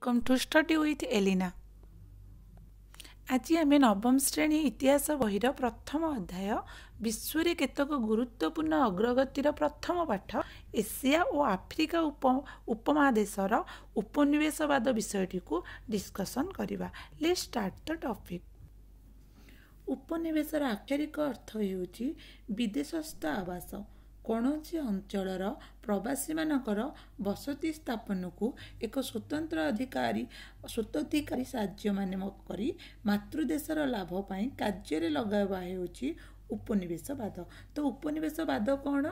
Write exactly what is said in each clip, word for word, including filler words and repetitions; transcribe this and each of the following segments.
Welcome to Study with Elina. ଆଜି ଆମେ ନବମ ଶ୍ରେଣୀ ଇତିହାସ ବହିର ପ୍ରଥମ ଅଧ୍ୟାୟ ବିଶ୍ୱରେ କେତେକ ଗୁରୁତ୍ୱପୂର୍ଣ୍ଣ ଅଗ୍ରଗତିର ପ୍ରଥମ ପାଠ ଏସିଆ ଓ ଆଫ୍ରିକା ଉପ ଉପମହାଦେଶର ଉପନିବେଶବାଦ ବିଷୟଟିକୁ ଡିସ୍କସନ୍ କରିବା। Let's start the topic. ଉପନିବେଶର ଆକ୍ଷରିକ ଅର୍ଥ ହେଉଛି ବିଦେଶସ୍ଥ ଆବାସ। କୌଣସି ଅଞ୍ଚଳର ପ୍ରବାସୀମାନଙ୍କର ବସତି ସ୍ଥାପନକୁ ଏକ ସ୍ୱତନ୍ତ୍ର ଅଧିକାରୀ ସ୍ୱତ୍ୱାଧିକାରୀ ରାଜ୍ୟମାନେ କରି ମାତୃଦେଶର ଲାଭ ପାଇଁ କାର୍ଯ୍ୟରେ ଲଗାଇବା ହେଉଛି ଉପନିବେଶବାଦ। ତ ଉପନିବେଶବାଦ କ'ଣ?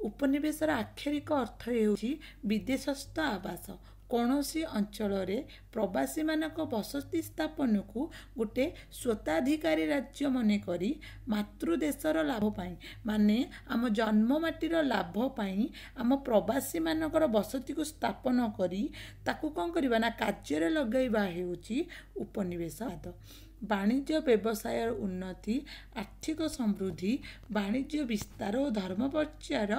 ଉପନିବେଶର ଆକ୍ଷରିକ ଅର୍ଥ ହେଉଛି ବିଦେଶସ୍ଥ ଆବାସ। କୌଣସି ଅଞ୍ଚଳରେ ପ୍ରବାସୀମାନଙ୍କ ବସତି ସ୍ଥାପନକୁ ଗୋଟେ ସ୍ୱତ୍ୱାଧିକାରୀ ରାଜ୍ୟ ମନେକରି ମାତୃଦେଶର ଲାଭ ପାଇଁ, ମାନେ ଆମ ଜନ୍ମମାଟିର ଲାଭ ପାଇଁ, ଆମ ପ୍ରବାସୀମାନଙ୍କର ବସତିକୁ ସ୍ଥାପନ କରି ତାକୁ କ'ଣ କରିବା ନା କାର୍ଯ୍ୟରେ ଲଗାଇବା ହେଉଛି ଉପନିବେଶବାଦ। ବାଣିଜ୍ୟ ବ୍ୟବସାୟର ଉନ୍ନତି, ଆର୍ଥିକ ସମୃଦ୍ଧି, ବାଣିଜ୍ୟ ବିସ୍ତାର ଓ ଧର୍ମ ପ୍ରଚାର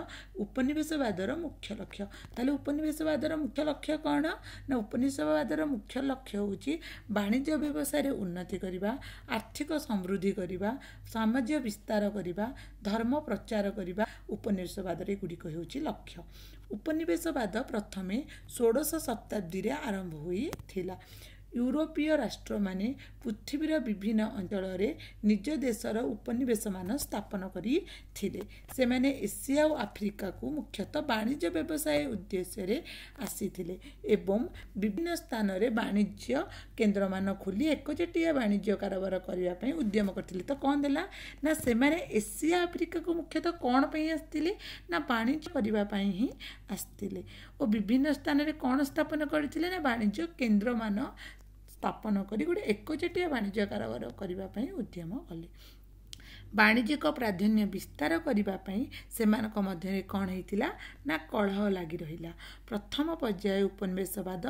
ଉପନିବେଶବାଦର ମୁଖ୍ୟ ଲକ୍ଷ୍ୟ। ତାହେଲେ ଉପନିବେଶବାଦର ମୁଖ୍ୟ ଲକ୍ଷ୍ୟ କ'ଣ ନା ଉପନିବେଶବାଦର ମୁଖ୍ୟ ଲକ୍ଷ୍ୟ ହେଉଛି ବାଣିଜ୍ୟ ବ୍ୟବସାୟରେ ଉନ୍ନତି କରିବା, ଆର୍ଥିକ ସମୃଦ୍ଧି କରିବା, ସାମାଜିକ ବିସ୍ତାର କରିବା, ଧର୍ମ ପ୍ରଚାର କରିବା। ଉପନିବେଶବାଦର ଏଗୁଡ଼ିକ ହେଉଛି ଲକ୍ଷ୍ୟ। ଉପନିବେଶବାଦ ପ୍ରଥମେ ଷୋଡ଼ଶ ଶତାବ୍ଦୀରେ ଆରମ୍ଭ ହୋଇଥିଲା। ୟୁରୋପୀୟ ରାଷ୍ଟ୍ରମାନେ ପୃଥିବୀର ବିଭିନ୍ନ ଅଞ୍ଚଳରେ ନିଜ ଦେଶର ଉପନିବେଶମାନ ସ୍ଥାପନ କରିଥିଲେ। ସେମାନେ ଏସିଆ ଓ ଆଫ୍ରିକାକୁ ମୁଖ୍ୟତଃ ବାଣିଜ୍ୟ ବ୍ୟବସାୟ ଉଦ୍ଦେଶ୍ୟରେ ଆସିଥିଲେ ଏବଂ ବିଭିନ୍ନ ସ୍ଥାନରେ ବାଣିଜ୍ୟ କେନ୍ଦ୍ରମାନ ଖୋଲି ଏକଚଟିଆ ବାଣିଜ୍ୟ କାରବାର କରିବା ପାଇଁ ଉଦ୍ୟମ କରିଥିଲେ। ତ କ'ଣ ଦେଲା ନା ସେମାନେ ଏସିଆ ଆଫ୍ରିକାକୁ ମୁଖ୍ୟତଃ କ'ଣ ପାଇଁ ଆସିଥିଲେ ନା ବାଣିଜ୍ୟ କରିବା ପାଇଁ ହିଁ ଆସିଥିଲେ ଓ ବିଭିନ୍ନ ସ୍ଥାନରେ କ'ଣ ସ୍ଥାପନ କରିଥିଲେ ନା ବାଣିଜ୍ୟ କେନ୍ଦ୍ରମାନ ସ୍ଥାପନ କରି ଗୋଟେ ଏକଚଟିଆ ବାଣିଜ୍ୟ କାରବାର କରିବା ପାଇଁ ଉଦ୍ୟମ କଲେ। ବାଣିଜ୍ୟିକ ପ୍ରାଧାନ୍ୟ ବିସ୍ତାର କରିବା ପାଇଁ ସେମାନଙ୍କ ମଧ୍ୟରେ କ'ଣ ହେଇଥିଲା ନା କଳହ ଲାଗି ରହିଲା। ପ୍ରଥମ ପର୍ଯ୍ୟାୟ ଉପନିବେଶବାଦ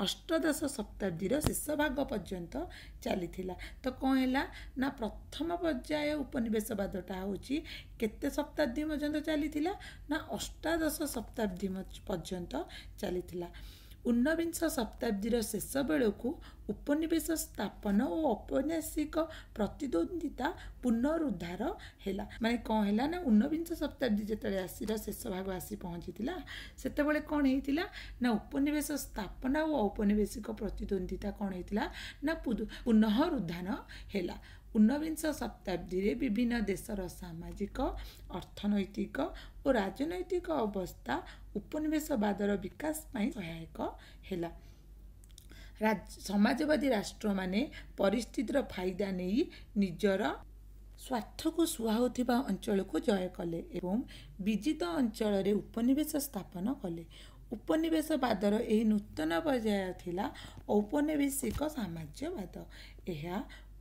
ଅଷ୍ଟଦଶ ଶତାବ୍ଦୀର ଶେଷ ଭାଗ ପର୍ଯ୍ୟନ୍ତ ଚାଲିଥିଲା। ତ କ'ଣ ହେଲା ନା ପ୍ରଥମ ପର୍ଯ୍ୟାୟ ଉପନିବେଶବାଦଟା ହେଉଛି କେତେ ଶତାବ୍ଦୀ ପର୍ଯ୍ୟନ୍ତ ଚାଲିଥିଲା ନା ଅଷ୍ଟାଦଶ ଶତାବ୍ଦୀ ପର୍ଯ୍ୟନ୍ତ ଚାଲିଥିଲା। ଊନବିଂଶ ଶତାବ୍ଦୀର ଶେଷ ବେଳକୁ ଉପନିବେଶ ସ୍ଥାପନ ଓ ଔପନିବେଶିକ ପ୍ରତିଦ୍ୱନ୍ଦ୍ୱିତା ପୁନରୁଦ୍ଧାର ହେଲା। ମାନେ କ'ଣ ହେଲା ନା ଊନବିଂଶ ଶତାବ୍ଦୀ ଯେତେବେଳେ ଆସିର ଶେଷ ଭାଗ ଆସି ପହଞ୍ଚିଥିଲା, ସେତେବେଳେ କ'ଣ ହେଇଥିଲା ନା ଉପନିବେଶ ସ୍ଥାପନ ଓ ଔପନିବେଶିକ ପ୍ରତିଦ୍ୱନ୍ଦ୍ୱିତା କ'ଣ ହେଇଥିଲା ନା ପୁନଃରୁଦ୍ଧାର ହେଲା। ଊନବିଂଶ ଶତାବ୍ଦୀରେ ବିଭିନ୍ନ ଦେଶର ସାମାଜିକ, ଅର୍ଥନୈତିକ ଓ ରାଜନୈତିକ ଅବସ୍ଥା ଉପନିବେଶବାଦର ବିକାଶ ପାଇଁ ସହାୟକ ହେଲା। ସମାଜବାଦୀ ରାଷ୍ଟ୍ରମାନେ ପରିସ୍ଥିତିର ଫାଇଦା ନେଇ ନିଜର ସ୍ୱାର୍ଥକୁ ସୁହାଉଥିବା ଅଞ୍ଚଳକୁ ଜୟ କଲେ ଏବଂ ବିଜିତ ଅଞ୍ଚଳରେ ଉପନିବେଶ ସ୍ଥାପନ କଲେ। ଉପନିବେଶବାଦର ଏହି ନୂତନ ପର୍ଯ୍ୟାୟ ଥିଲା ଔପନିବେଶିକ ସାମ୍ରାଜ୍ୟବାଦ। ଏହା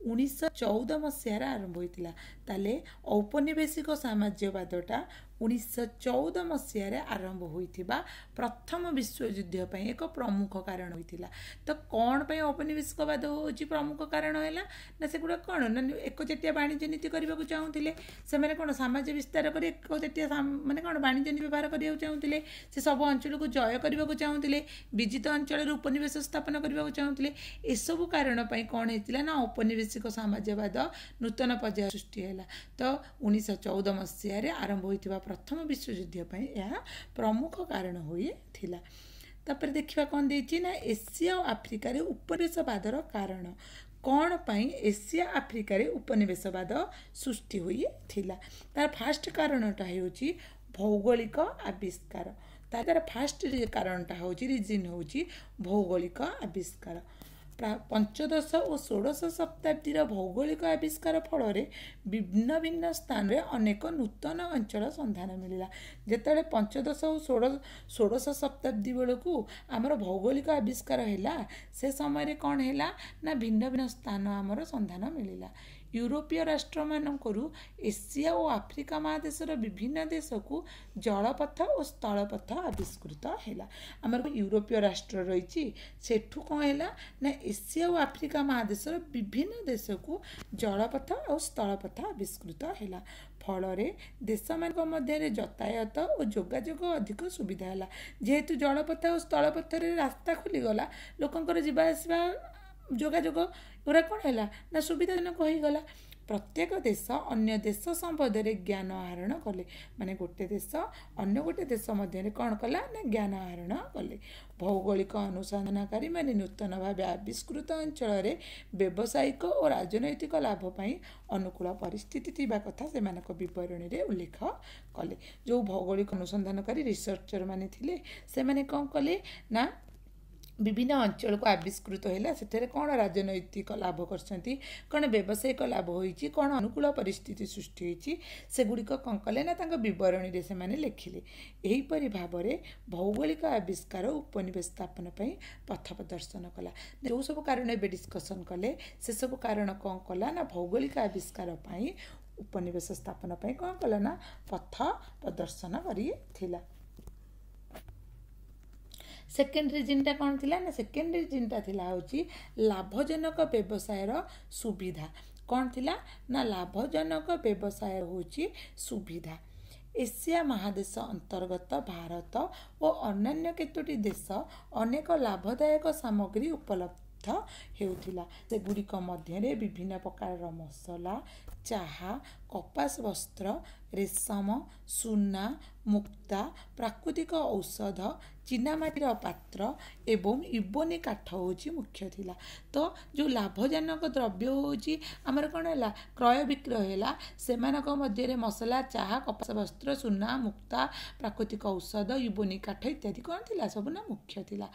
ଉଣେଇଶହ ଚଉଦ ମସିହାରେ ଆରମ୍ଭ ହୋଇଥିଲା। ତାହେଲେ ଔପନିବେଶିକ ସାମ୍ରାଜ୍ୟବାଦଟା ଉଣେଇଶହ ଚଉଦ ମସିହାରେ ଆରମ୍ଭ ହୋଇଥିବା ପ୍ରଥମ ବିଶ୍ୱଯୁଦ୍ଧ ପାଇଁ ଏକ ପ୍ରମୁଖ କାରଣ ହୋଇଥିଲା। ତ କ'ଣ ପାଇଁ ଔପନିବେଶିକବାଦ ହେଉଛି ପ୍ରମୁଖ କାରଣ ହେଲା ନା ସେଗୁଡ଼ା କ'ଣ ନା ଏକଚଟିଆ ବାଣିଜ୍ୟ ନୀତି କରିବାକୁ ଚାହୁଁଥିଲେ। ସେମାନେ କ'ଣ ସାମ୍ରାଜ୍ୟ ବିସ୍ତାର କରି ଏକଚଟିଆ ମାନେ କ'ଣ ବାଣିଜ୍ୟ ନୀତି ବ୍ୟବହାର କରିବାକୁ ଚାହୁଁଥିଲେ। ସେ ସବୁ ଅଞ୍ଚଳକୁ ଜୟ କରିବାକୁ ଚାହୁଁଥିଲେ, ବିଜିତ ଅଞ୍ଚଳରେ ଉପନିବେଶ ସ୍ଥାପନ କରିବାକୁ ଚାହୁଁଥିଲେ। ଏସବୁ କାରଣ ପାଇଁ କ'ଣ ହେଇଥିଲା ନା ଔପନିବେଶିକ ସାମ୍ରାଜ୍ୟବାଦ ନୂତନ ପର୍ଯ୍ୟାୟ ସୃଷ୍ଟି ହେଲା। ତ ଉଣେଇଶହ ଚଉଦ ମସିହାରେ ଆରମ୍ଭ ହୋଇଥିବା ପ୍ରଥମ ବିଶ୍ୱଯୁଦ୍ଧ ପାଇଁ ଏହା ପ୍ରମୁଖ କାରଣ ହୋଇଥିଲା। ତାପରେ ଦେଖିବା କ'ଣ ଦେଇଛି ନା ଏସିଆ ଓ ଆଫ୍ରିକାରେ ଉପନିବେଶବାଦର କାରଣ। କ'ଣ ପାଇଁ ଏସିଆ ଆଫ୍ରିକାରେ ଉପନିବେଶବାଦ ସୃଷ୍ଟି ହୋଇଥିଲା? ତାର ଫାଷ୍ଟ କାରଣଟା ହେଉଛି ଭୌଗୋଳିକ ଆବିଷ୍କାର। ତାର ଫାଷ୍ଟ କାରଣଟା ହେଉଛି ରିଜିନ୍ ହେଉଛି ଭୌଗୋଳିକ ଆବିଷ୍କାର। ପଞ୍ଚଦଶ ଓ ଷୋଡ଼ଶ ଶତାବ୍ଦୀର ଭୌଗୋଳିକ ଆବିଷ୍କାର ଫଳରେ ଭିନ୍ନ ଭିନ୍ନ ସ୍ଥାନରେ ଅନେକ ନୂତନ ଅଞ୍ଚଳ ସନ୍ଧାନ ମିଳିଲା। ଯେତେବେଳେ ପଞ୍ଚଦଶ ଓ ଷୋଡ଼ ଷୋଡ଼ଶ ଶତାବ୍ଦୀ ବେଳକୁ ଆମର ଭୌଗୋଳିକ ଆବିଷ୍କାର ହେଲା, ସେ ସମୟରେ କ'ଣ ହେଲା ନା ଭିନ୍ନ ଭିନ୍ନ ସ୍ଥାନ ଆମର ସନ୍ଧାନ ମିଳିଲା। ୟୁରୋପୀୟ ରାଷ୍ଟ୍ରମାନଙ୍କରୁ ଏସିଆ ଓ ଆଫ୍ରିକା ମହାଦେଶର ବିଭିନ୍ନ ଦେଶକୁ ଜଳପଥ ଓ ସ୍ଥଳପଥ ଆବିଷ୍କୃତ ହେଲା। ଆମର ୟୁରୋପୀୟ ରାଷ୍ଟ୍ର ରହିଛି, ସେଠୁ କ'ଣ ହେଲା ନା ଏସିଆ ଓ ଆଫ୍ରିକା ମହାଦେଶର ବିଭିନ୍ନ ଦେଶକୁ ଜଳପଥ ଆଉ ସ୍ଥଳପଥ ଆବିଷ୍କୃତ ହେଲା। ଫଳରେ ଦେଶମାନଙ୍କ ମଧ୍ୟରେ ଯାତାୟାତ ଓ ଯୋଗାଯୋଗ ଅଧିକ ସୁବିଧା ହେଲା। ଯେହେତୁ ଜଳପଥ ଆଉ ସ୍ଥଳପଥରେ ରାସ୍ତା ଖୋଲିଗଲା, ଲୋକଙ୍କର ଯିବା ଆସିବା, ଯୋଗାଯୋଗ ଏଗୁଡ଼ା କ'ଣ ହେଲା ନା ସୁବିଧାଜନକ ହୋଇଗଲା। ପ୍ରତ୍ୟେକ ଦେଶ ଅନ୍ୟ ଦେଶ ସମ୍ବନ୍ଧରେ ଜ୍ଞାନ ଆହରଣ କଲେ। ମାନେ ଗୋଟେ ଦେଶ ଅନ୍ୟ ଗୋଟେ ଦେଶ ମଧ୍ୟରେ କ'ଣ କଲା ନା ଜ୍ଞାନ ଆହରଣ କଲେ। ଭୌଗୋଳିକ ଅନୁସନ୍ଧାନକାରୀମାନେ ନୂତନ ଭାବେ ଆବିଷ୍କୃତ ଅଞ୍ଚଳରେ ବ୍ୟବସାୟିକ ଓ ରାଜନୈତିକ ଲାଭ ପାଇଁ ଅନୁକୂଳ ପରିସ୍ଥିତି ଥିବା କଥା ସେମାନଙ୍କ ବିବରଣୀରେ ଉଲ୍ଲେଖ କଲେ। ଯେଉଁ ଭୌଗୋଳିକ ଅନୁସନ୍ଧାନକାରୀ ରିସର୍ଚ୍ଚର ମାନେ ଥିଲେ, ସେମାନେ କ'ଣ କଲେ ନା ବିଭିନ୍ନ ଅଞ୍ଚଳକୁ ଆବିଷ୍କୃତ ହେଲା, ସେଠାରେ କ'ଣ ରାଜନୈତିକ ଲାଭ କରିଛନ୍ତି, କ'ଣ ବ୍ୟବସାୟିକ ଲାଭ ହୋଇଛି, କ'ଣ ଅନୁକୂଳ ପରିସ୍ଥିତି ସୃଷ୍ଟି ହୋଇଛି, ସେଗୁଡ଼ିକ କ'ଣ କଲେ ନା ତାଙ୍କ ବିବରଣୀରେ ସେମାନେ ଲେଖିଲେ। ଏହିପରି ଭାବରେ ଭୌଗୋଳିକ ଆବିଷ୍କାର ଉପନିବେଶ ସ୍ଥାପନ ପାଇଁ ପଥ ପ୍ରଦର୍ଶନ କଲା। ଯେଉଁ ସବୁ କାରଣ ଏବେ ଡିସ୍କସନ୍ କଲେ, ସେସବୁ କାରଣ କ'ଣ କଲା ନା ଭୌଗୋଳିକ ଆବିଷ୍କାର ପାଇଁ, ଉପନିବେଶ ସ୍ଥାପନ ପାଇଁ କ'ଣ କଲା ନା ପଥ ପ୍ରଦର୍ଶନ କରିଥିଲା। ସେକେଣ୍ଡ ରିଜିନ୍ଟା କ'ଣ ଥିଲା ନା ସେକେଣ୍ଡ ରିଜିନ୍ଟା ଥିଲା ହେଉଛି ଲାଭଜନକ ବ୍ୟବସାୟର ସୁବିଧା। କ'ଣ ଥିଲା ନା ଲାଭଜନକ ବ୍ୟବସାୟ ହେଉଛି ସୁବିଧା। ଏସିଆ ମହାଦେଶ ଅନ୍ତର୍ଗତ ଭାରତ ଓ ଅନ୍ୟାନ୍ୟ କେତୋଟି ଦେଶ ଅନେକ ଲାଭଦାୟକ ସାମଗ୍ରୀ ଉପଲବ୍ଧ ହେଉଥିଲା। ସେଗୁଡ଼ିକ ମଧ୍ୟରେ ବିଭିନ୍ନ ପ୍ରକାରର ମସଲା, ଚାହା, କପାସ ବସ୍ତ୍ର, ରେଶମ, ସୁନା, ମୁକ୍ତା, ପ୍ରାକୃତିକ ଔଷଧ, ଚୀନାମାଟିର ପାତ୍ର ଏବଂ ଇବୋନି କାଠ ହେଉଛି ମୁଖ୍ୟ ଥିଲା। ତ ଯେଉଁ ଲାଭଜନକ ଦ୍ରବ୍ୟ ହେଉଛି ଆମର କ'ଣ ହେଲା, କ୍ରୟ ବିକ୍ରୟ ହେଲା, ସେମାନଙ୍କ ମଧ୍ୟରେ ମସଲା, ଚାହା, କପାସ ବସ୍ତ୍ର, ସୁନା, ମୁକ୍ତା, ପ୍ରାକୃତିକ ଔଷଧ, ଇବୋନି କାଠ ଇତ୍ୟାଦି କ'ଣ ଥିଲା ସବୁ ନା ମୁଖ୍ୟ ଥିଲା।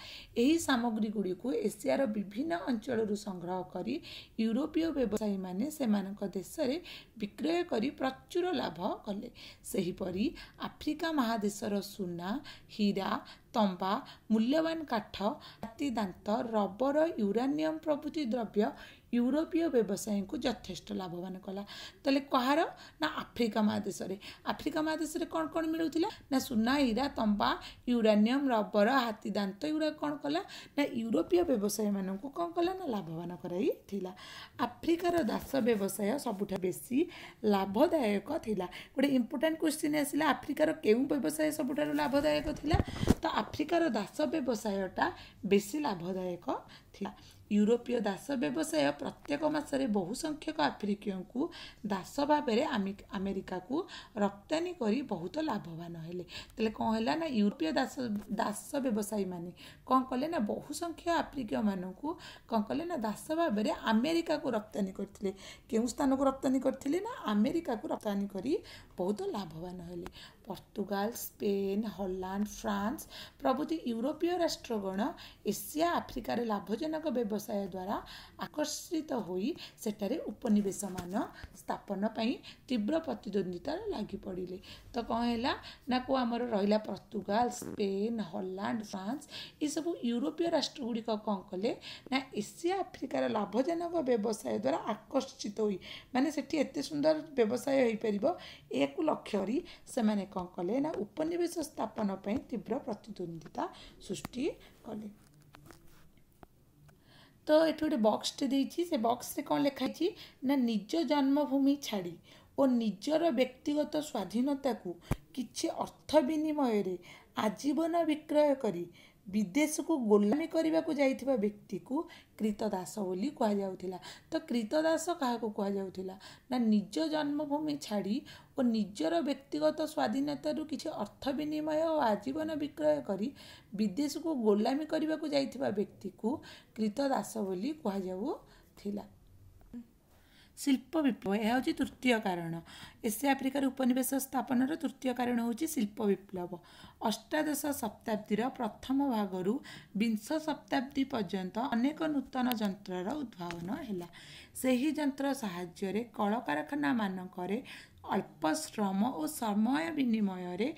ଏହି ସାମଗ୍ରୀ ଗୁଡ଼ିକୁ ଏସିଆର ବିଭିନ୍ନ ଅଞ୍ଚଳରୁ ସଂଗ୍ରହ କରି ୟୁରୋପୀୟ ବ୍ୟବସାୟୀମାନେ ସେମାନଙ୍କ ଦେଶରେ ବିକ୍ରୟ କରି ପ୍ରଚୁର ଲାଭ କଲେ। ସେହିପରି ଆଫ୍ରିକା ମହାଦେଶର ସୁନା, ହୀରା, ତମ୍ବା, ମୂଲ୍ୟବାନ କାଠ, ହାତୀଦାନ୍ତ, ରବର, ୟୁରାନିୟମ ପ୍ରଭୃତି ଦ୍ରବ୍ୟ ୟୁରୋପୀୟ ବ୍ୟବସାୟୀଙ୍କୁ ଯଥେଷ୍ଟ ଲାଭବାନ କଲା। ତାହେଲେ କାହାର ନା ଆଫ୍ରିକା ମହାଦେଶରେ। ଆଫ୍ରିକା ମହାଦେଶରେ କ'ଣ କ'ଣ ମିଳୁଥିଲା ନା ସୁନା, ହୀରା, ତମ୍ବା, ୟୁରାନିୟମ, ରବର, ହାତୀଦାନ୍ତ, ଏଗୁଡ଼ାକ କ'ଣ କଲା ନା ୟୁରୋପୀୟ ବ୍ୟବସାୟୀମାନଙ୍କୁ କ'ଣ କଲା ନା ଲାଭବାନ କରାଇଥିଲା। ଆଫ୍ରିକାର ଦାସ ବ୍ୟବସାୟ ସବୁଠାରୁ ବେଶୀ ଲାଭଦାୟକ ଥିଲା। ଗୋଟେ ଇମ୍ପୋର୍ଟାଣ୍ଟ କ୍ୱେଶ୍ଚିନ୍ ଆସିଲା, ଆଫ୍ରିକାର କେଉଁ ବ୍ୟବସାୟ ସବୁଠାରୁ ଲାଭଦାୟକ ଥିଲା? ତ ଆଫ୍ରିକାର ଦାସ ବ୍ୟବସାୟଟା ବେଶୀ ଲାଭଦାୟକ ଥିଲା। ୟୁରୋପୀୟ ଦାସ ବ୍ୟବସାୟ ପ୍ରତ୍ୟେକ ମାସରେ ବହୁ ସଂଖ୍ୟକ ଆଫ୍ରିକୀୟଙ୍କୁ ଦାସ ଭାବରେ ଆମେରିକାକୁ ରପ୍ତାନି କରି ବହୁତ ଲାଭବାନ ହେଲେ। ତାହେଲେ କ'ଣ ହେଲା ନା ୟୁରୋପୀୟ ଦାସ ଦାସ ବ୍ୟବସାୟୀମାନେ କ'ଣ କଲେ ନା ବହୁ ସଂଖ୍ୟକ ଆଫ୍ରିକୀୟମାନଙ୍କୁ କ'ଣ କଲେ ନା ଦାସ ଭାବରେ ଆମେରିକାକୁ ରପ୍ତାନି କରିଥିଲେ। କେଉଁ ସ୍ଥାନକୁ ରପ୍ତାନି କରିଥିଲେ ନା ଆମେରିକାକୁ ରପ୍ତାନି କରି ବହୁତ ଲାଭବାନ ହେଲେ। ପର୍ତ୍ତୁଗାଲ, ସ୍ପେନ୍, ହଲାଣ୍ଡ, ଫ୍ରାନ୍ସ ପ୍ରଭୃତି ୟୁରୋପୀୟ ରାଷ୍ଟ୍ରଗଣ ଏସିଆ ଆଫ୍ରିକାରେ ଲାଭଜନକ ବ୍ୟବସାୟ ଦ୍ୱାରା ଆକର୍ଷିତ ହୋଇ ସେଠାରେ ଉପନିବେଶମାନ ସ୍ଥାପନ ପାଇଁ ତୀବ୍ର ପ୍ରତିଦ୍ୱନ୍ଦ୍ୱିତାରେ ଲାଗି ପଡ଼ିଲେ। ତ କ'ଣ ହେଲା ନା କେଉଁ ଆମର ରହିଲା ପର୍ତ୍ତୁଗାଲ, ସ୍ପେନ୍, ହଲାଣ୍ଡ, ଫ୍ରାନ୍ସ, ଏସବୁ ୟୁରୋପୀୟ ରାଷ୍ଟ୍ର ଗୁଡ଼ିକ କ'ଣ କଲେ ନା ଏସିଆ ଆଫ୍ରିକାର ଲାଭଜନକ ବ୍ୟବସାୟ ଦ୍ୱାରା ଆକର୍ଷିତ ହୋଇ, ମାନେ ସେଠି ଏତେ ସୁନ୍ଦର ବ୍ୟବସାୟ ହୋଇପାରିବ ଏହାକୁ ଲକ୍ଷ୍ୟ କରି ସେମାନେ କ'ଣ କଲେ ନା ଉପନିବେଶ ସ୍ଥାପନ ପାଇଁ ତୀବ୍ର ପ୍ରତିଦ୍ୱନ୍ଦ୍ୱିତା ସୃଷ୍ଟି କଲେ। ତ ଏଠି ଗୋଟେ ବକ୍ସଟେ ଦେଇଛି, ସେ ବକ୍ସରେ କ'ଣ ଲେଖା ହେଇଛି ନା ନିଜ ଜନ୍ମଭୂମି ଛାଡ଼ି ଓ ନିଜର ବ୍ୟକ୍ତିଗତ ସ୍ୱାଧୀନତାକୁ କିଛି ଅର୍ଥ ବିନିମୟରେ ଆଜୀବନ ବିକ୍ରୟ କରି ବିଦେଶକୁ ଗୋଲାମୀ କରିବାକୁ ଯାଇଥିବା ବ୍ୟକ୍ତିକୁ କ୍ରୀତଦାସ ବୋଲି କୁହାଯାଉଥିଲା। ତ କ୍ରୀତଦାସ କାହାକୁ କୁହାଯାଉଥିଲା ନା ନିଜ ଜନ୍ମଭୂମି ଛାଡ଼ି ଓ ନିଜର ବ୍ୟକ୍ତିଗତ ସ୍ୱାଧୀନତାରୁ କିଛି ଅର୍ଥ ବିନିମୟ ଓ ଆଜୀବନ ବିକ୍ରୟ କରି ବିଦେଶକୁ ଗୋଲାମୀ କରିବାକୁ ଯାଇଥିବା ବ୍ୟକ୍ତିକୁ କ୍ରୀତଦାସ ବୋଲି କୁହାଯାଉଥିଲା। ଶିଳ୍ପ ବିପ୍ଳବ, ଏହା ହେଉଛି ତୃତୀୟ କାରଣ। ଏସିଆ ଆଫ୍ରିକାରେ ଉପନିବେଶ ସ୍ଥାପନର ତୃତୀୟ କାରଣ ହେଉଛି ଶିଳ୍ପ ବିପ୍ଳବ। ଅଷ୍ଟାଦଶ ଶତାବ୍ଦୀର ପ୍ରଥମ ଭାଗରୁ ବିଂଶ ଶତାବ୍ଦୀ ପର୍ଯ୍ୟନ୍ତ ଅନେକ ନୂତନ ଯନ୍ତ୍ରର ଉଦ୍ଭାବନ ହେଲା। ସେହି ଯନ୍ତ୍ର ସାହାଯ୍ୟରେ କଳକାରଖାନାମାନଙ୍କରେ ଅଳ୍ପ ଶ୍ରମ ଓ ସମୟ ବିନିମୟରେ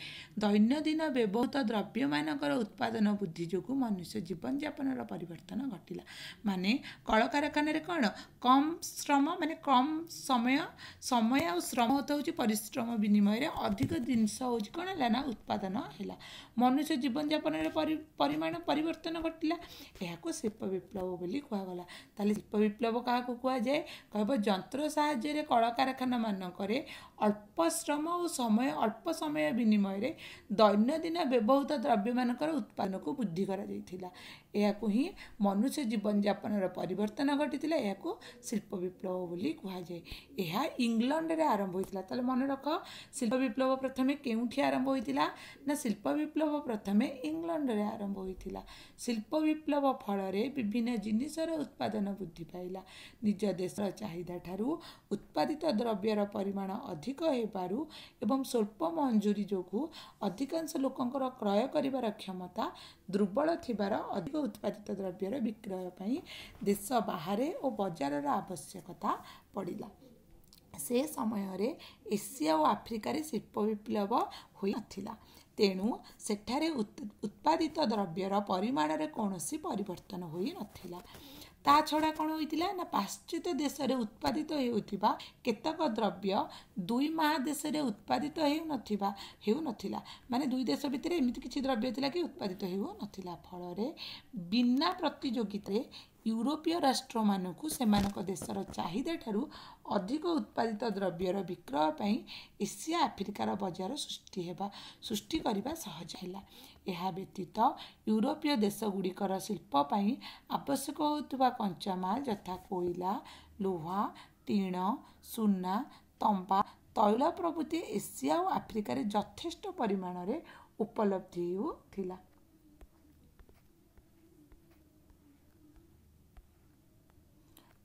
ଦୈନନ୍ଦିନ ବ୍ୟବହୃତ ଦ୍ରବ୍ୟମାନଙ୍କର ଉତ୍ପାଦନ ବୃଦ୍ଧି ଯୋଗୁଁ ମନୁଷ୍ୟ ଜୀବନଯାପନର ପରିବର୍ତ୍ତନ ଘଟିଲା। ମାନେ କଳକାରଖାନାରେ କ'ଣ କମ୍ ଶ୍ରମ, ମାନେ କମ୍ ସମୟ, ସମୟ ଆଉ ଶ୍ରମ ହେଉଛି ପରିଶ୍ରମ ବିନିମୟରେ ଅଧିକ ଜିନିଷ ହେଉଛି କ'ଣ ହେଲା ନା ଉତ୍ପାଦନ ହେଲା। ମନୁଷ୍ୟ ଜୀବନଯାପନରେ ପରିମାଣ ପରିବର୍ତ୍ତନ ଘଟିଲା। ଏହାକୁ ଶିଳ୍ପ ବିପ୍ଳବ ବୋଲି କୁହାଗଲା। ତାହେଲେ ଶିଳ୍ପ ବିପ୍ଳବ କାହାକୁ କୁହାଯାଏ? କହିବ ଯନ୍ତ୍ର ସାହାଯ୍ୟରେ କଳକାରଖାନା ମାନଙ୍କରେ ଅଳ୍ପ ଶ୍ରମ ଓ ସମୟ, ଅଳ୍ପ ସମୟ ବିନିମୟରେ ଦୈନନ୍ଦିନ ବ୍ୟବହୃତ ଦ୍ରବ୍ୟମାନଙ୍କର ଉତ୍ପାଦନକୁ ବୃଦ୍ଧି କରାଯାଇଥିଲା। ଏହାକୁ ହିଁ ମନୁଷ୍ୟ ଜୀବନଯାପନର ପରିବର୍ତ୍ତନ ଘଟିଥିଲା। ଏହାକୁ ଶିଳ୍ପ ବିପ୍ଳବ ବୋଲି କୁହାଯାଏ। ଏହା ଇଂଲଣ୍ଡରେ ଆରମ୍ଭ ହୋଇଥିଲା। ତାହେଲେ ମନେ ରଖ, ଶିଳ୍ପ ବିପ୍ଳବ ପ୍ରଥମେ କେଉଁଠି ଆରମ୍ଭ ହୋଇଥିଲା ନା ଶିଳ୍ପ ବିପ୍ଳବ ପ୍ରଥମେ ଇଂଲଣ୍ଡରେ ଆରମ୍ଭ ହୋଇଥିଲା। ଶିଳ୍ପ ବିପ୍ଳବ ଫଳରେ ବିଭିନ୍ନ ଜିନିଷର ଉତ୍ପାଦନ ବୃଦ୍ଧି ପାଇଲା। ନିଜ ଦେଶର ଚାହିଦା ଠାରୁ ଉତ୍ପାଦିତ ଦ୍ରବ୍ୟର ପରିମାଣ ଅଧିକ ହେବାରୁ ଏବଂ ସ୍ୱଳ୍ପ ମଞ୍ଜୁରୀ ଯୋଗୁଁ ଅଧିକାଂଶ ଲୋକଙ୍କର କ୍ରୟ କରିବାର କ୍ଷମତା ଦୁର୍ବଳ ଥିବାର ଅଧିକ ଉତ୍ପାଦିତ ଦ୍ରବ୍ୟର ବିକ୍ରୟ ପାଇଁ ଦେଶ ବାହାରେ ଓ ବଜାରର ଆବଶ୍ୟକତା ପଡ଼ିଲା। ସେ ସମୟରେ ଏସିଆ ଓ ଆଫ୍ରିକାରେ ଶିଳ୍ପ ବିପ୍ଳବ ହୋଇନଥିଲା, ତେଣୁ ସେଠାରେ ଉତ୍ପାଦିତ ଦ୍ରବ୍ୟର ପରିମାଣରେ କୌଣସି ପରିବର୍ତ୍ତନ ହୋଇନଥିଲା। ତା ଛଡ଼ା କ'ଣ ହୋଇଥିଲା ନା ପାଶ୍ଚାତ୍ୟ ଦେଶରେ ଉତ୍ପାଦିତ ହେଉଥିବା କେତେକ ଦ୍ରବ୍ୟ ଦୁଇ ମହାଦେଶରେ ଉତ୍ପାଦିତ ହେଉନଥିବା ହେଉନଥିଲା। ମାନେ ଦୁଇ ଦେଶ ଭିତରେ ଏମିତି କିଛି ଦ୍ରବ୍ୟ ଥିଲା କି ଉତ୍ପାଦିତ ହେଉନଥିଲା। ଫଳରେ ବିନା ପ୍ରତିଯୋଗିତାରେ ୟୁରୋପୀୟ ରାଷ୍ଟ୍ରମାନଙ୍କୁ ସେମାନଙ୍କ ଦେଶର ଚାହିଦା ଠାରୁ ଅଧିକ ଉତ୍ପାଦିତ ଦ୍ରବ୍ୟର ବିକ୍ରୟ ପାଇଁ ଏସିଆ ଆଫ୍ରିକାର ବଜାର ସୃଷ୍ଟି ହେବା ସୃଷ୍ଟି କରିବା ସହଜ ହେଲା। ଏହା ବ୍ୟତୀତ ୟୁରୋପୀୟ ଦେଶଗୁଡ଼ିକର ଶିଳ୍ପ ପାଇଁ ଆବଶ୍ୟକ ହେଉଥିବା କଞ୍ଚାମାଲ ଯଥା କୋଇଲା, ଲୁହା, ଟିଣ, ସୁନା, ତମ୍ବା, ତୈଳ ପ୍ରଭୃତି ଏସିଆ ଓ ଆଫ୍ରିକାରେ ଯଥେଷ୍ଟ ପରିମାଣରେ ଉପଲବ୍ଧି ହେଉଥିଲା।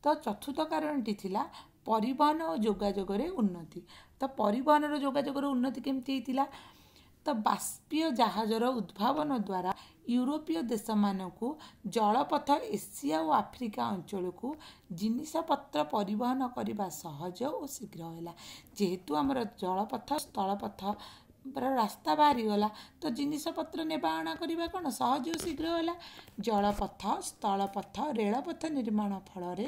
ତ ଚତୁର୍ଥ କାରଣଟି ଥିଲା ପରିବହନ ଓ ଯୋଗାଯୋଗରେ ଉନ୍ନତି। ତ ପରିବହନର ଯୋଗାଯୋଗର ଉନ୍ନତି କେମିତି ହେଇଥିଲା? ତ ବାଷ୍ପୀୟ ଜାହାଜର ଉଦ୍ଭାବନ ଦ୍ୱାରା ୟୁରୋପୀୟ ଦେଶମାନଙ୍କୁ ଜଳପଥ ଏସିଆ ଓ ଆଫ୍ରିକା ଅଞ୍ଚଳକୁ ଜିନିଷପତ୍ର ପରିବହନ କରିବା ସହଜ ଓ ଶୀଘ୍ର ହେଲା। ଯେହେତୁ ଆମର ଜଳପଥ ସ୍ଥଳପଥ ରାସ୍ତା ବାହାରିଗଲା, ତ ଜିନିଷପତ୍ର ନେବା ଆଣା କରିବା କ'ଣ ସହଜ ଓ ଶୀଘ୍ର ହେଲା। ଜଳପଥ, ସ୍ଥଳପଥ, ରେଳପଥ ନିର୍ମାଣ ଫଳରେ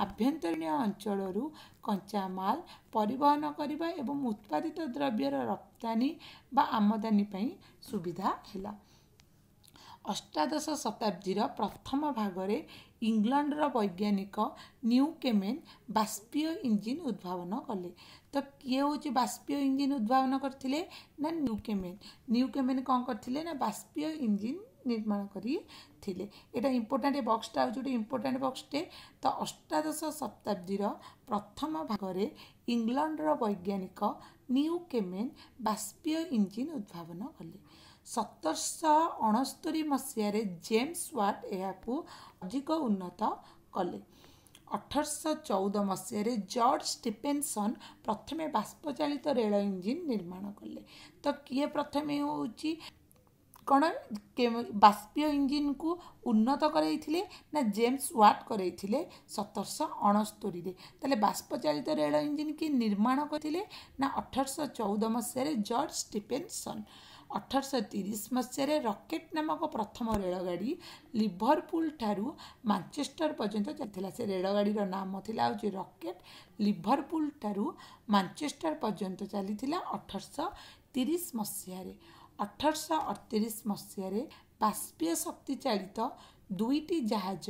ଆଭ୍ୟନ୍ତରୀଣ ଅଞ୍ଚଳରୁ କଞ୍ଚାମାଲ ପରିବହନ କରିବା ଏବଂ ଉତ୍ପାଦିତ ଦ୍ରବ୍ୟର ରପ୍ତାନି ବା ଆମଦାନୀ ପାଇଁ ସୁବିଧା ହେଲା। ଅଷ୍ଟାଦଶ ଶତାବ୍ଦୀର ପ୍ରଥମ ଭାଗରେ ଇଂଲଣ୍ଡର ବୈଜ୍ଞାନିକ ନ୍ୟୁକେମେନ୍ ବାଷ୍ପୀୟ ଇଞ୍ଜିନ୍ ଉଦ୍ଭାବନ କଲେ। ତ କିଏ ହେଉଛି ବାଷ୍ପୀୟ ଇଞ୍ଜିନ୍ ଉଦ୍ଭାବନ କରିଥିଲେ ନା ନ୍ୟୁକେମେନ୍। ନ୍ୟୁକେମେନ୍ କ'ଣ କରିଥିଲେ ନା ବାଷ୍ପୀୟ ଇଞ୍ଜିନ୍ ନିର୍ମାଣ କରିଥିଲେ। ଏଇଟା ଇମ୍ପୋର୍ଟାଣ୍ଟ ବକ୍ସଟା ହେଉଛି ଗୋଟେ ଇମ୍ପୋର୍ଟାଣ୍ଟ ବକ୍ସଟେ। ତ ଅଷ୍ଟାଦଶ ଶତାବ୍ଦୀର ପ୍ରଥମ ଭାଗରେ ଇଂଲଣ୍ଡର ବୈଜ୍ଞାନିକ ନ୍ୟୁକେମେନ୍ ବାଷ୍ପୀୟ ଇଞ୍ଜିନ୍ ଉଦ୍ଭାବନ କଲେ। ସତରଶହ ଅଣସ୍ତରୀ ମସିହାରେ ଜେମ୍ସ ୱାଟ୍ ଏହାକୁ ଅଧିକ ଉନ୍ନତ କଲେ। ଅଠରଶହ ଚଉଦ ମସିହାରେ ଜର୍ଜ ଷ୍ଟିଫେନସନ୍ ପ୍ରଥମେ ବାଷ୍ପଚାଳିତ ରେଳ ଇଞ୍ଜିନ୍ ନିର୍ମାଣ କଲେ। ତ କିଏ ପ୍ରଥମେ ହେଉଛି କ'ଣ ବାଷ୍ପୀୟ ଇଞ୍ଜିନ୍କୁ ଉନ୍ନତ କରାଇଥିଲେ ନା ଜେମ୍ସ ୱାଟ୍ କରାଇଥିଲେ ସତରଶହ ଅଣସ୍ତରୀରେ। ତାହେଲେ ବାଷ୍ପଚାଳିତ ରେଳ ଇଞ୍ଜିନ୍ କିଏ ନିର୍ମାଣ କରିଥିଲେ ନା ଅଠରଶହ ଚଉଦ ମସିହାରେ ଜର୍ଜ ଷ୍ଟିଫେନସନ୍। ଅଠରଶହ ତିରିଶ ମସିହାରେ ରକେଟ୍ ନାମକ ପ୍ରଥମ ରେଳଗାଡ଼ି ଲିଭରପୁଲ ଠାରୁ ମାଞ୍ଚେଷ୍ଟର ପର୍ଯ୍ୟନ୍ତ ଚାଲିଥିଲା। ସେ ରେଳଗାଡ଼ିର ନାମ ଥିଲା ହେଉଛି ରକେଟ୍। ଲିଭରପୁଲ ଠାରୁ ମାଞ୍ଚେଷ୍ଟର ପର୍ଯ୍ୟନ୍ତ ଚାଲିଥିଲା ଅଠରଶହ ତିରିଶ ମସିହାରେ। ଅଠରଶହ ଅଠତିରିଶ ମସିହାରେ ବାଷ୍ପୀୟ ଶକ୍ତି ଚାଳିତ ଦୁଇଟି ଜାହାଜ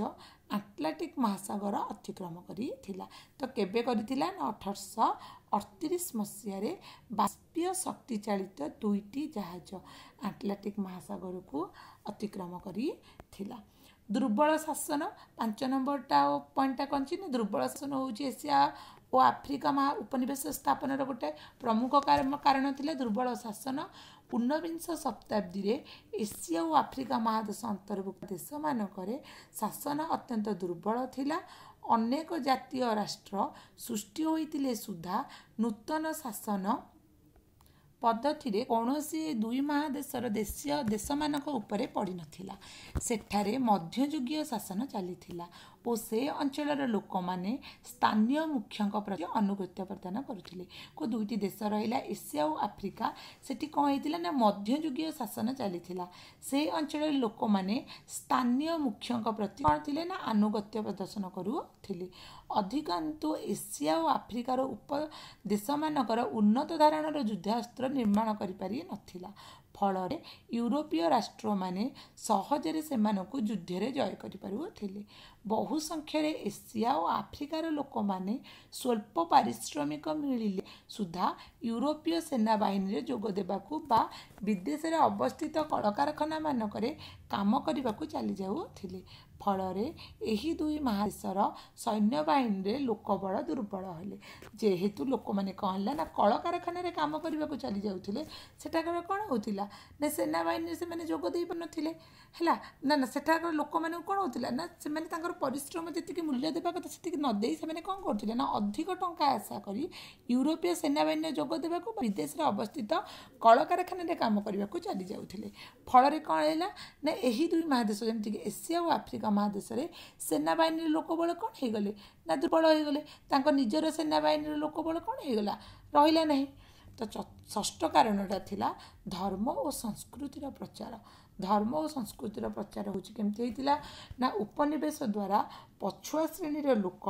ଆଟଲାଣ୍ଟିକ୍ ମହାସାଗର ଅତିକ୍ରମ କରିଥିଲା। ତ କେବେ କରିଥିଲା ନା ଅଠରଶହ ଅଠତିରିଶ ମସିହାରେ ବାଷ୍ପୀୟ ଶକ୍ତି ଚାଳିତ ଦୁଇଟି ଜାହାଜ ଆଟଲାଣ୍ଟିକ୍ ମହାସାଗରକୁ ଅତିକ୍ରମ କରିଥିଲା। ଦୁର୍ବଳ ଶାସନ, ପାଞ୍ଚ ନମ୍ବରଟା ପଏଣ୍ଟଟା କ'ଣ ଅଛି ନା ଦୁର୍ବଳ ଶାସନ ହେଉଛି ଏସିଆ ଓ ଆଫ୍ରିକା ମହା ଉପନିବେଶ ସ୍ଥାପନର ଗୋଟେ ପ୍ରମୁଖ କାରଣ ଥିଲା ଦୁର୍ବଳ ଶାସନ। ଊନବିଂଶ ଶତାବ୍ଦୀରେ ଏସିଆ ଓ ଆଫ୍ରିକା ମହାଦେଶ ଅନ୍ତର୍ଭୁକ୍ତ ଦେଶମାନଙ୍କରେ ଶାସନ ଅତ୍ୟନ୍ତ ଦୁର୍ବଳ ଥିଲା। ଅନେକ ଜାତୀୟ ରାଷ୍ଟ୍ର ସୃଷ୍ଟି ହୋଇଥିଲେ ସୁଦ୍ଧା ନୂତନ ଶାସନ ପଦ୍ଧତିରେ କୌଣସି ଦୁଇ ମହାଦେଶର ଦେଶୀୟ ଦେଶମାନଙ୍କ ଉପରେ ପଡ଼ିନଥିଲା। ସେଠାରେ ମଧ୍ୟଯୁଗୀୟ ଶାସନ ଚାଲିଥିଲା ଓ ସେ ଅଞ୍ଚଳର ଲୋକମାନେ ସ୍ଥାନୀୟ ମୁଖ୍ୟଙ୍କ ପ୍ରତି ଆନୁଗତ୍ୟ ପ୍ରଦାନ କରୁଥିଲେ। କେଉଁ ଦୁଇଟି ଦେଶ ରହିଲା, ଏସିଆ ଓ ଆଫ୍ରିକା, ସେଠି କ'ଣ ହେଇଥିଲା ନା ମଧ୍ୟଯୁଗୀୟ ଶାସନ ଚାଲିଥିଲା। ସେ ଅଞ୍ଚଳର ଲୋକମାନେ ସ୍ଥାନୀୟ ମୁଖ୍ୟଙ୍କ ପ୍ରତି କ'ଣ ଥିଲେ ନା ଆନୁଗତ୍ୟ ପ୍ରଦର୍ଶନ କରୁଥିଲେ। ଅଧିକାନ୍ତୁ ଏସିଆ ଓ ଆଫ୍ରିକାର ଉପ ଦେଶମାନଙ୍କର ଉନ୍ନତ ଧରଣର ଯୁଦ୍ଧାସ୍ତ୍ର ନିର୍ମାଣ କରିପାରି ନଥିଲା। ଫଳରେ ୟୁରୋପୀୟ ରାଷ୍ଟ୍ରମାନେ ସହଜରେ ସେମାନଙ୍କୁ ଯୁଦ୍ଧରେ ଜୟ କରିପାରୁଥିଲେ। ବହୁ ସଂଖ୍ୟାରେ ଏସିଆ ଓ ଆଫ୍ରିକାର ଲୋକମାନେ ସ୍ୱଳ୍ପ ପାରିଶ୍ରମିକ ମିଳିଲେ ସୁଦ୍ଧା ୟୁରୋପୀୟ ସେନାବାହିନୀରେ ଯୋଗ ଦେବାକୁ ବା ବିଦେଶରେ ଅବସ୍ଥିତ କଳକାରଖାନାମାନଙ୍କରେ କାମ କରିବାକୁ ଚାଲିଯାଉଥିଲେ। ଫଳରେ ଏହି ଦୁଇ ମହାଦେଶର ସୈନ୍ୟବାହିନୀରେ ଲୋକବଳ ଦୁର୍ବଳ ହେଲେ। ଯେହେତୁ ଲୋକମାନେ କ'ଣ ହେଲା ନା କଳକାରଖାନାରେ କାମ କରିବାକୁ ଚାଲି ଯାଉଥିଲେ, ସେଠାକାର କ'ଣ ହେଉଥିଲା ନା ସେନାବାହିନୀରେ ସେମାନେ ଯୋଗ ଦେଇପାରୁନଥିଲେ। ହେଲା ନା ନା ସେଠାକାର ଲୋକମାନଙ୍କୁ କ'ଣ ହେଉଥିଲା ନା ସେମାନେ ତାଙ୍କର ପରିଶ୍ରମ ଯେତିକି ମୂଲ୍ୟ ଦେବା କଥା ସେତିକି ନ ଦେଇ ସେମାନେ କ'ଣ କରୁଥିଲେ ନା ଅଧିକ ଟଙ୍କା ଆଶା କରି ୟୁରୋପୀୟ ସେନାବାହିନୀରେ ଯୋଗ ଦେବାକୁ, ବିଦେଶରେ ଅବସ୍ଥିତ କଳକାରଖାନାରେ କାମ କରିବାକୁ ଚାଲି ଯାଉଥିଲେ। ଫଳରେ କ'ଣ ହେଲା ନା ଏହି ଦୁଇ ମହାଦେଶ, ଯେମିତିକି ଏସିଆ ଓ ଆଫ୍ରିକା ମହାଦେଶରେ ସେନାବାହିନୀର ଲୋକବଳ କ'ଣ ହେଇଗଲେ ନା ଦୁର୍ବଳ ହେଇଗଲେ। ତାଙ୍କ ନିଜର ସେନାବାହିନୀର ଲୋକବଳ କ'ଣ ହେଇଗଲା, ରହିଲା ନାହିଁ। ତ ଷଷ୍ଠ କାରଣଟା ଥିଲା ଧର୍ମ ଓ ସଂସ୍କୃତିର ପ୍ରଚାର। ଧର୍ମ ଓ ସଂସ୍କୃତିର ପ୍ରଚାର ହେଉଛି କେମିତି ହେଇଥିଲା ନା ଉପନିବେଶ ଦ୍ୱାରା ପଛୁଆ ଶ୍ରେଣୀର ଲୋକ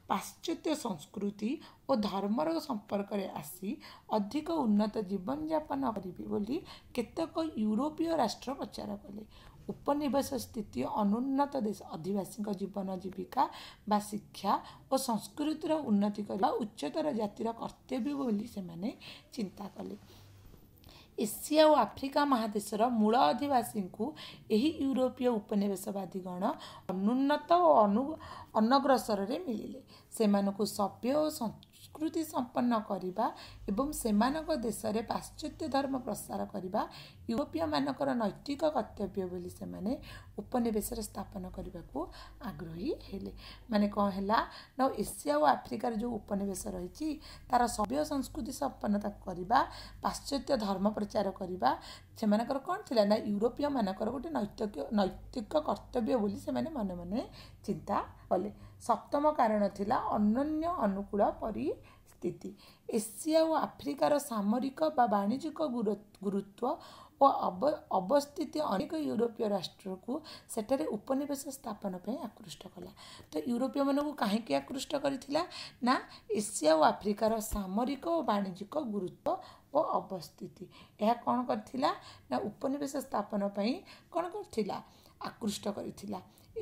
ପାଶ୍ଚାତ୍ୟ ସଂସ୍କୃତି ଓ ଧର୍ମର ସମ୍ପର୍କରେ ଆସି ଅଧିକ ଉନ୍ନତ ଜୀବନଯାପନ କରିବେ ବୋଲି କେତେକ ୟୁରୋପୀୟ ରାଷ୍ଟ୍ର ପ୍ରଚାର କଲେ। ଉପନିବେଶ ସ୍ଥିତି ଅନୁନ୍ନତ ଦେଶ ଅଧିବାସୀଙ୍କ ଜୀବନ ଜୀବିକା ବା ଶିକ୍ଷା ଓ ସଂସ୍କୃତିର ଉନ୍ନତି କରିବା ଉଚ୍ଚତର ଜାତିର କର୍ତ୍ତବ୍ୟ ବୋଲି ସେମାନେ ଚିନ୍ତା କଲେ। ଏସିଆ ଓ ଆଫ୍ରିକା ମହାଦେଶର ମୂଳ ଅଧିବାସୀଙ୍କୁ ଏହି ୟୁରୋପୀୟ ଉପନିବେଶବାଦୀଗଣ ଅନୁନ୍ନତ ଓ ଅନୁ ଅନଗ୍ରସରରେ ମିଳିଲେ। ସେମାନଙ୍କୁ ସଭ୍ୟ ଓ ସଂସ୍କୃତି ସମ୍ପନ୍ନ କରିବା ଏବଂ ସେମାନଙ୍କ ଦେଶରେ ପାଶ୍ଚାତ୍ୟ ଧର୍ମ ପ୍ରସାର କରିବା ୟୁରୋପୀୟମାନଙ୍କର ନୈତିକ କର୍ତ୍ତବ୍ୟ ବୋଲି ସେମାନେ ଉପନିବେଶରେ ସ୍ଥାପନ କରିବାକୁ ଆଗ୍ରହୀ ହେଲେ। ମାନେ କ'ଣ ହେଲା ନା ଏସିଆ ଓ ଆଫ୍ରିକାର ଯେଉଁ ଉପନିବେଶ ରହିଛି ତାର ସଭ୍ୟ ସଂସ୍କୃତି ସମ୍ପନ୍ନତା କରିବା, ପାଶ୍ଚାତ୍ୟ ଧର୍ମ ପ୍ରଚାର କରିବା ସେମାନଙ୍କର କ'ଣ ଥିଲା ନା ୟୁରୋପୀୟମାନଙ୍କର ଗୋଟେ ନୈତିକ ନୈତିକ କର୍ତ୍ତବ୍ୟ ବୋଲି ସେମାନେ ମନେ ମନେ ଚିନ୍ତା କଲେ। ସପ୍ତମ କାରଣ ଥିଲା ଅନନ୍ୟ ଅନୁକୂଳ ପରିସ୍ଥିତି। ଏସିଆ ଓ ଆଫ୍ରିକାର ସାମରିକ ବା ବାଣିଜ୍ୟିକ ଗୁରୁତ୍ୱ ଓ ଅବସ୍ଥିତି ଅନେକ ୟୁରୋପୀୟ ରାଷ୍ଟ୍ରକୁ ସେଠାରେ ଉପନିବେଶ ସ୍ଥାପନ ପାଇଁ ଆକୃଷ୍ଟ କଲା। ତ ୟୁରୋପୀୟମାନଙ୍କୁ କାହିଁକି ଆକୃଷ୍ଟ କରିଥିଲା ନା ଏସିଆ ଓ ଆଫ୍ରିକାର ସାମରିକ ଓ ବାଣିଜ୍ୟିକ ଗୁରୁତ୍ୱ ଓ ଅବସ୍ଥିତି ଏହା କ'ଣ କରିଥିଲା ନା ଉପନିବେଶ ସ୍ଥାପନ ପାଇଁ କ'ଣ କରିଥିଲା, ଆକୃଷ୍ଟ କରିଥିଲା।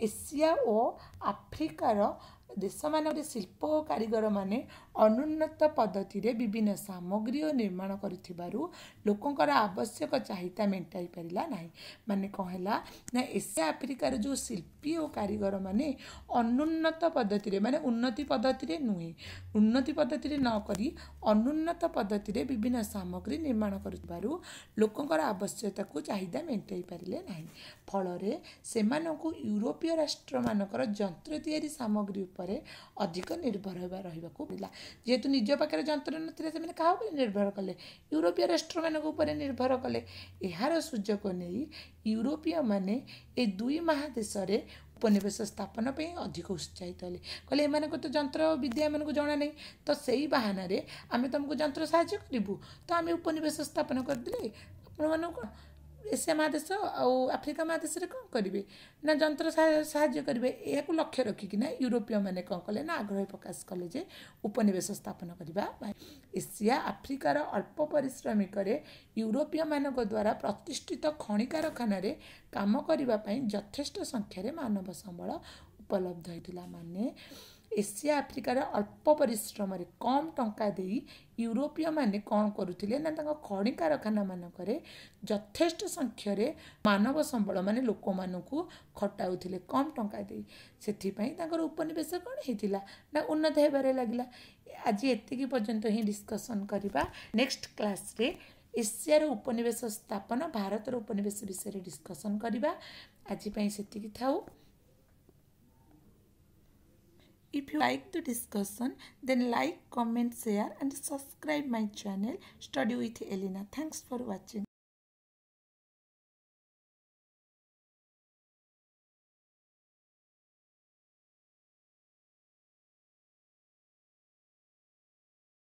ଏସିଆ ଓ ଆଫ୍ରିକାର ଦେଶମାନଙ୍କରେ ଶିଳ୍ପ ଓ କାରିଗରମାନେ ଅନୁନ୍ନତ ପଦ୍ଧତିରେ ବିଭିନ୍ନ ସାମଗ୍ରୀ ଓ ନିର୍ମାଣ କରିଥିବାରୁ ଲୋକଙ୍କର ଆବଶ୍ୟକ ଚାହିଦା ମେଣ୍ଟାଇ ପାରିଲା ନାହିଁ। ମାନେ କ'ଣ ହେଲା ନା ଏସିଆ ଆଫ୍ରିକାର ଯେଉଁ ଶିଳ୍ପୀ ଓ କାରିଗରମାନେ ଅନୁନ୍ନତ ପଦ୍ଧତିରେ, ମାନେ ଉନ୍ନତି ପଦ୍ଧତିରେ ନୁହେଁ, ଉନ୍ନତି ପଦ୍ଧତିରେ ନ କରି ଅନୁନ୍ନତ ପଦ୍ଧତିରେ ବିଭିନ୍ନ ସାମଗ୍ରୀ ନିର୍ମାଣ କରୁଥିବାରୁ ଲୋକଙ୍କର ଆବଶ୍ୟକତାକୁ ଚାହିଦା ମେଣ୍ଟାଇ ପାରିଲେ ନାହିଁ। ଫଳରେ ସେମାନଙ୍କୁ ୟୁରୋପୀୟ ରାଷ୍ଟ୍ରମାନଙ୍କର ଯନ୍ତ୍ର ତିଆରି ସାମଗ୍ରୀ ଉପରେ ଅଧିକ ନିର୍ଭର ହେବା ରହିବାକୁ ପଡ଼ିଲା। ଯେହେତୁ ନିଜ ପାଖରେ ଯନ୍ତ୍ର ନଥିଲା ସେମାନେ କାହା ଉପରେ ନିର୍ଭର କଲେ, ୟୁରୋପୀୟ ରାଷ୍ଟ୍ରମାନଙ୍କ ଉପରେ ନିର୍ଭର କଲେ। ଏହାର ସୁଯୋଗ ନେଇ ୟୁରୋପୀୟମାନେ ଏ ଦୁଇ ମହାଦେଶରେ ଉପନିବେଶ ସ୍ଥାପନ ପାଇଁ ଅଧିକ ଉତ୍ସାହିତ ହେଲେ। କହିଲେ ଏମାନଙ୍କୁ ତ ଯନ୍ତ୍ର ବିଦ୍ୟା ଏମାନଙ୍କୁ ଜଣା ନାହିଁ, ତ ସେଇ ବାହାନାରେ ଆମେ ତୁମକୁ ଯନ୍ତ୍ର ସାହାଯ୍ୟ କରିବୁ, ତ ଆମେ ଉପନିବେଶ ସ୍ଥାପନ କରିଦେଲେ ଆପଣମାନଙ୍କୁ କ'ଣ ଏସିଆ ମହାଦେଶ ଆଉ ଆଫ୍ରିକା ମହାଦେଶରେ କ'ଣ କରିବେ ନା ଯନ୍ତ୍ର ସାହାଯ୍ୟ କରିବେ। ଏହାକୁ ଲକ୍ଷ୍ୟ ରଖିକିନା ୟୁରୋପୀୟମାନେ କ'ଣ କଲେ ନା ଆଗ୍ରହ ପ୍ରକାଶ କଲେ ଯେ ଉପନିବେଶ ସ୍ଥାପନ କରିବା ପାଇଁ। ଏସିଆ ଆଫ୍ରିକାର ଅଳ୍ପ ପରିଶ୍ରମିକରେ ୟୁରୋପୀୟମାନଙ୍କ ଦ୍ୱାରା ପ୍ରତିଷ୍ଠିତ ଖଣି କାରଖାନାରେ କାମ କରିବା ପାଇଁ ଯଥେଷ୍ଟ ସଂଖ୍ୟାରେ ମାନବ ସମ୍ବଳ ଉପଲବ୍ଧ ହୋଇଥିଲା। ମାନେ ଏସିଆ ଆଫ୍ରିକାର ଅଳ୍ପ ପରିଶ୍ରମରେ କମ୍ ଟଙ୍କା ଦେଇ ୟୁରୋପୀୟମାନେ କ'ଣ କରୁଥିଲେ ନା ତାଙ୍କ ଖଣି କାରଖାନାମାନଙ୍କରେ ଯଥେଷ୍ଟ ସଂଖ୍ୟାରେ ମାନବ ସମ୍ବଳ ମାନେ ଲୋକମାନଙ୍କୁ ଖଟାଉଥିଲେ କମ୍ ଟଙ୍କା ଦେଇ। ସେଥିପାଇଁ ତାଙ୍କର ଉପନିବେଶ କ'ଣ ହେଇଥିଲା ନା ଉନ୍ନତ ହେବାରେ ଲାଗିଲା। ଆଜି ଏତିକି ପର୍ଯ୍ୟନ୍ତ ହିଁ ଡିସ୍କସନ୍ କରିବା। ନେକ୍ସଟ କ୍ଲାସ୍ରେ ଏସିଆର ଉପନିବେଶ ସ୍ଥାପନ, ଭାରତର ଉପନିବେଶ ବିଷୟରେ ଡିସ୍କସନ୍ କରିବା। ଆଜି ପାଇଁ ସେତିକି ଥାଉ। If you like the discussion, then like, comment, share and subscribe my channel Study with Elina. Thanks for watching.